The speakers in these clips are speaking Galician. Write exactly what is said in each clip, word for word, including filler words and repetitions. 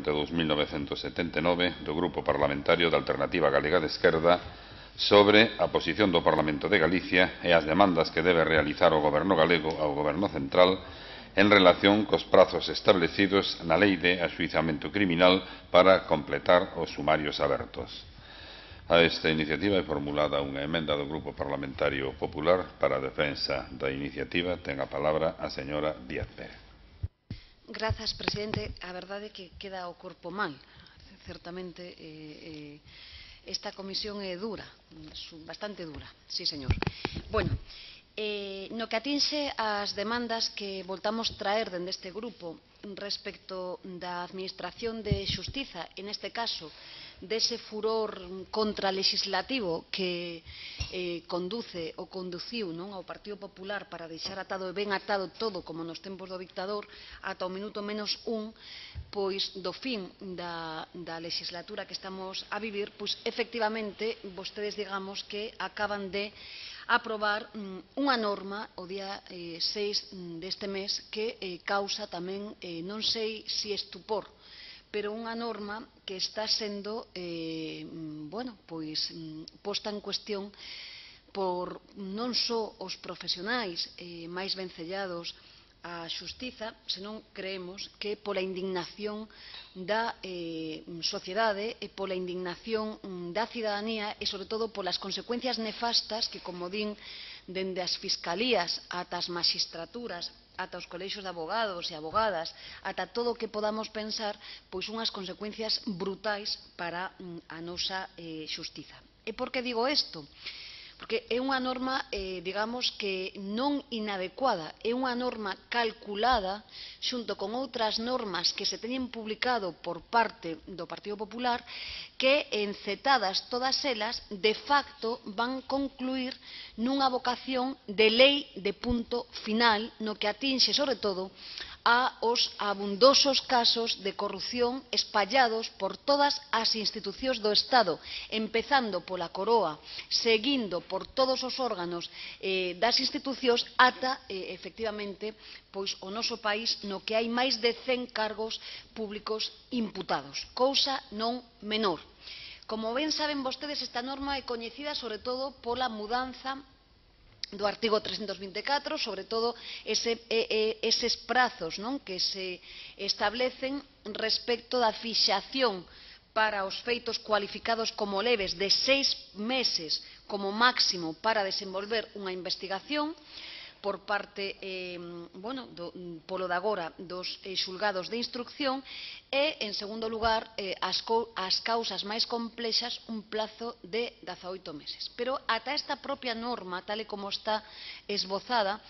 de dos mil novecentos e setenta e nove do Grupo Parlamentario da Alternativa Galega de Esquerda sobre a posición do Parlamento de Galicia e as demandas que debe realizar o Goberno galego ao Goberno central en relación cos prazos establecidos na Lei de Axuizamento Criminal para completar os sumarios abertos. A esta iniciativa é formulada unha emenda do Grupo Parlamentario Popular. Para a defensa da iniciativa ten a palabra a señora Díaz Pérez. Grazas, presidente. A verdade é que queda o corpo mal. Certamente eh, eh, esta comisión é dura, bastante dura, sí, señor. Bueno, eh, no que atinxe as demandas que voltamos traer dende este grupo respecto da Administración de Xustiza, en este caso, dese furor contralegislativo que eh, conduce ou conduciu non, ao Partido Popular para deixar atado e ben atado todo como nos tempos do dictador ata o minuto menos un, pois do fin da, da legislatura que estamos a vivir, pois efectivamente vostedes digamos que acaban de aprobar mm, unha norma o día eh, seis deste mes que eh, causa tamén, eh, non sei se estupor, pero unha norma que está sendo eh, bueno, pois, posta en cuestión por non só os profesionais eh, máis vencellados á xustiza, senón creemos que pola indignación da eh, sociedade e pola indignación da cidadanía e, sobre todo, polas consecuencias nefastas que, como din, dende as fiscalías ata as magistraturas, ata os colexios de abogados e abogadas, ata todo o que podamos pensar, pois unhas consecuencias brutais para a nosa eh, xustiza. E por que digo isto? Porque é unha norma, eh, digamos, que non inadecuada, é unha norma calculada xunto con outras normas que se teñen publicado por parte do Partido Popular que, encetadas todas elas, de facto van concluir nunha vocación de lei de punto final no que atinxe, sobre todo, aos abundosos casos de corrupción espallados por todas as institucións do Estado, empezando pola Coroa, seguindo por todos os órganos eh, das institucións ata, eh, efectivamente, pois o noso país no que hai máis de cen cargos públicos imputados, cousa non menor. Como ben saben vostedes, esta norma é coñecida sobre todo pola mudanza do artigo trescentos vinte e catro, sobre todo ese, eh, eses prazos non, que se establecen respecto da fixación para os feitos cualificados como leves de seis meses como máximo para desenvolver unha investigación por parte, eh, bueno, do, polo de agora dos eh, xulgados de instrucción e, en segundo lugar, eh, as, as causas máis complexas un plazo de dezaoito meses. Pero ata esta propia norma, tal e como está esbozada,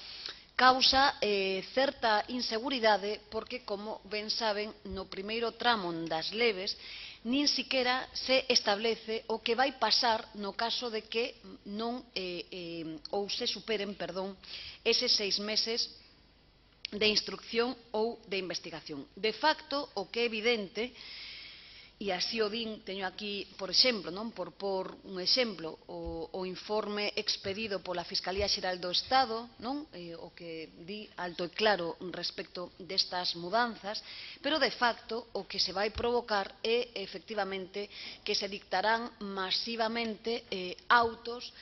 causa eh, certa inseguridade porque, como ben saben, no primeiro tramo das leves nin siquera se establece o que vai pasar no caso de que non eh, eh, ou se superen, perdón, eses seis meses de instrucción ou de investigación. De facto, o que é evidente, e así o din, teño aquí, por exemplo, non, por por un exemplo, o, o informe expedido pola Fiscalía Xeral do Estado, non, eh, o que di alto e claro respecto destas mudanzas, pero de facto o que se vai provocar é efectivamente que se dictarán masivamente eh, autos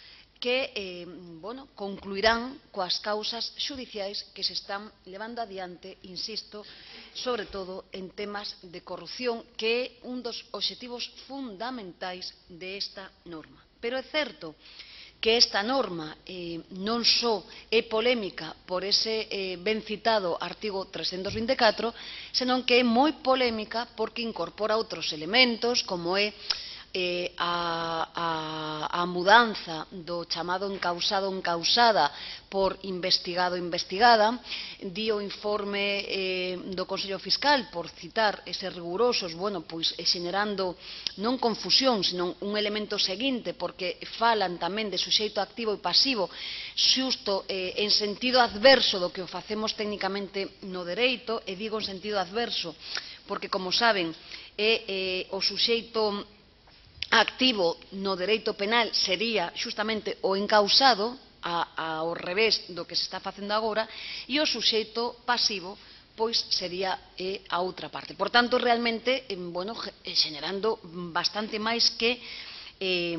que eh, bueno, concluirán coas causas xudiciais que se están levando adiante, insisto, sobre todo en temas de corrupción, que é un dos obxectivos fundamentais desta norma. Pero é certo que esta norma eh, non só é polémica por ese eh, ben citado artigo trescentos vinte e catro, senón que é moi polémica porque incorpora outros elementos, como é Eh, a, a, a mudanza do chamado encausado ou encausada por investigado ou investigada, di o informe eh, do Consello Fiscal, por citar eses rigurosos, bueno, pois xenerando non confusión, senón un elemento seguinte, porque falan tamén de suxeito activo e pasivo, xusto eh, en sentido adverso do que o facemos técnicamente no dereito, e digo en sentido adverso, porque, como saben, é eh, o suxeito activo no dereito penal sería xustamente o encausado a, ao revés do que se está facendo agora, e o suxeito pasivo pois sería eh, a outra parte. Por tanto, realmente, eh, bueno, generando bastante máis que eh,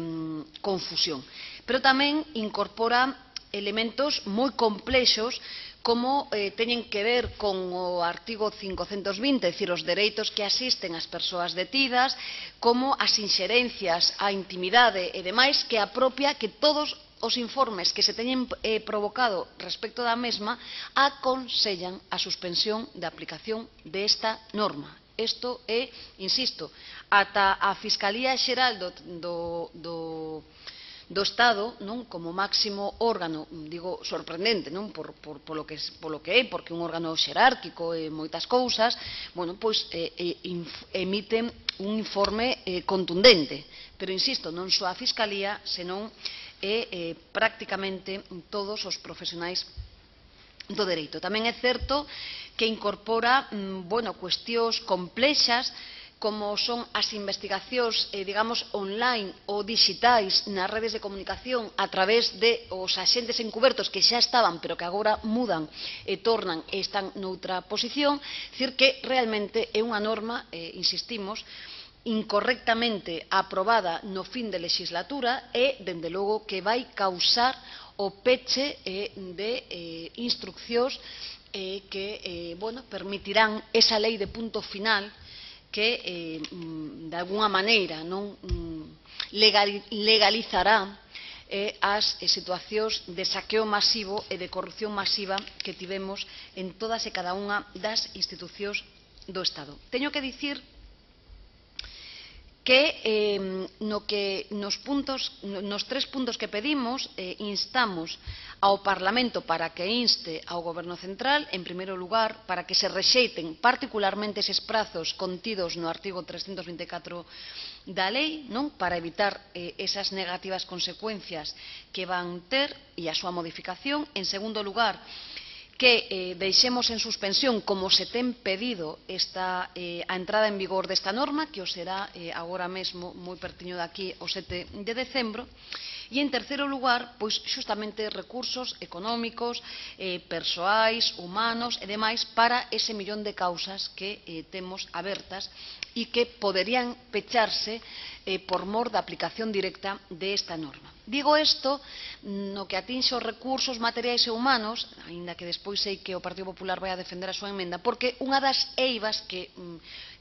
confusión. Pero tamén incorpora elementos moi complexos como eh, teñen que ver con o artigo quinhentos vinte, é dicir, os dereitos que asisten ás persoas detidas, como as inxerencias á intimidade e demais, que apropia que todos os informes que se teñen eh, provocado respecto da mesma aconsellan a suspensión da aplicación desta norma. Isto é, insisto, ata a Fiscalía Xeral do, do, do, do Estado, non, como máximo órgano, digo, sorprendente, non, por, por, polo, que, polo que é, porque é un órgano xerárquico e moitas cousas, bueno, pois eh, eh, emiten un informe eh, contundente, pero insisto, non só a Fiscalía, senón e eh, prácticamente todos os profesionais do dereito. Tamén é certo que incorpora mm, bueno, cuestións complexas como son as investigacións, eh, digamos, online ou digitais nas redes de comunicación a través de os axentes encubertos que xa estaban, pero que agora mudan e tornan e están noutra posición. É dicir, que realmente é unha norma, eh, insistimos, incorrectamente aprobada no fin de legislatura e, dende logo, que vai causar o peche eh, de eh, instruccións eh, que eh, bueno, permitirán esa lei de punto final que, eh, de alguna maneira, non legalizará eh, as eh, situacións de saqueo masivo e de corrupción masiva que tivemos en todas e cada unha das institucións do Estado. Teño que dicir que, eh, no que nos, puntos, nos tres puntos que pedimos eh, instamos ao Parlamento para que inste ao Goberno Central, en primeiro lugar, para que se rexeiten particularmente eses prazos contidos no artigo trescentos vinte e catro da lei, non, para evitar eh, esas negativas consecuencias que van ter e a súa modificación. En segundo lugar, que eh, deixemos en suspensión, como se ten pedido, esta, eh, a entrada en vigor desta norma, que o será eh, agora mesmo, moi pertiño daqui, o sete de decembro. E, en terceiro lugar, pois, xustamente recursos económicos, eh, persoais, humanos e demais para ese millón de causas que eh, temos abertas e que poderían pecharse eh, por mor da aplicación directa desta norma. Digo isto no que atinxe os recursos materiais e humanos, aínda que despois sei que o Partido Popular vai a defender a súa emenda, porque unha das eivas que,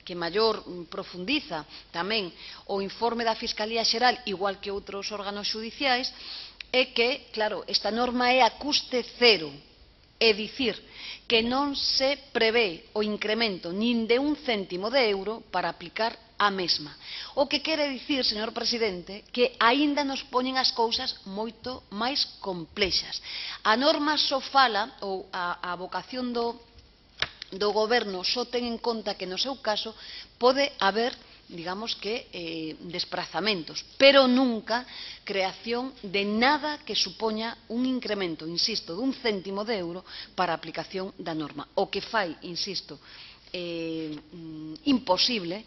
que maior profundiza tamén o informe da Fiscalía Xeral, igual que outros órganos xudiciais, é que, claro, esta norma é a custe cero, é dicir, que non se prevé o incremento nin de un céntimo de euro para aplicar a mesma. O que quere dicir, señor presidente, que aínda nos poñen as cousas moito máis complexas. A norma só fala, ou a, a vocación do, do goberno só ten en conta que no seu caso pode haber, digamos que, eh, desplazamentos, pero nunca creación de nada que supoña un incremento, insisto, dun céntimo de euro para a aplicación da norma. O que fai, insisto, eh, imposible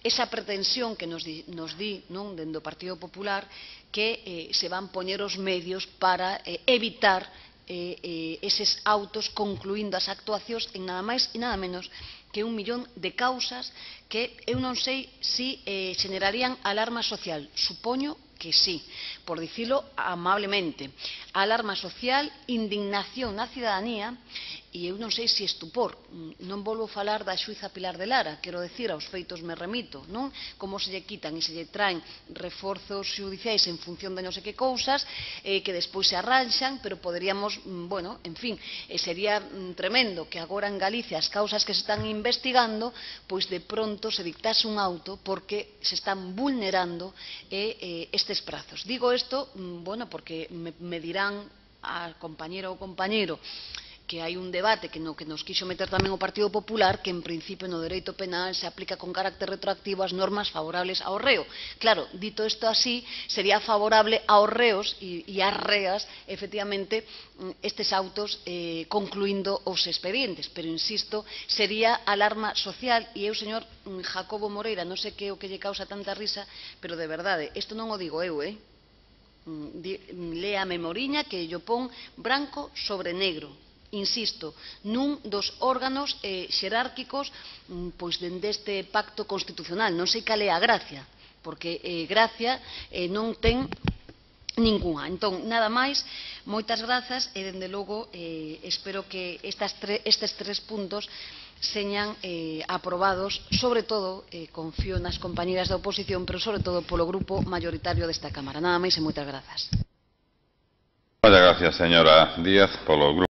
esa pretensión que nos di, nos di non, dende o Partido Popular, que eh, se van poñer os medios para eh, evitar eh, eh, eses autos concluindo as actuacións en nada máis e nada menos que un millón de causas que eu non sei se eh, generarían alarma social. Supoño que sí, por dicilo amablemente. Alarma social, indignación na cidadanía e eu non sei se estupor. Non volvo a falar da xuíza Pilar de Lara, quero decir, aos feitos me remito, non? Como se lle quitan e se lle traen reforzos xudiciais en función de non sei que cousas, eh, que despois se arranxan, pero poderíamos, bueno, en fin, eh, sería tremendo que agora en Galicia as causas que se están investigando, pois de pronto se dictase un auto porque se están vulnerando eh, eh, estes prazos. Digo isto, bueno, porque me, me dirán a compañera ou compañeiro que hai un debate que no que nos quixo meter tamén o Partido Popular, que en principio no dereito penal se aplica con carácter retroactivo as normas favorables ao reo. Claro, dito isto así, sería favorable aos reos e, e ás reas, efectivamente, estes autos eh, concluindo os expedientes, pero insisto, sería alarma social e eu, señor Jacobo Moreira, non sei que o que lle causa tanta risa, pero de verdade, isto non o digo eu, eh? Lea a memoriña que yo pon branco sobre negro. insisto, nun dos órganos eh, xerárquicos pois dende este pacto constitucional. Non sei cal é a gracia, porque eh, gracia eh, non ten ningunha. Entón, nada máis, moitas grazas e, dende logo, eh, espero que estas tre estes tres puntos señan eh, aprobados, sobre todo, eh, confío nas compañeras da oposición, pero sobre todo polo grupo mayoritario desta Cámara. Nada máis e moitas grazas. Moitas gracias, señora Díaz, polo grupo.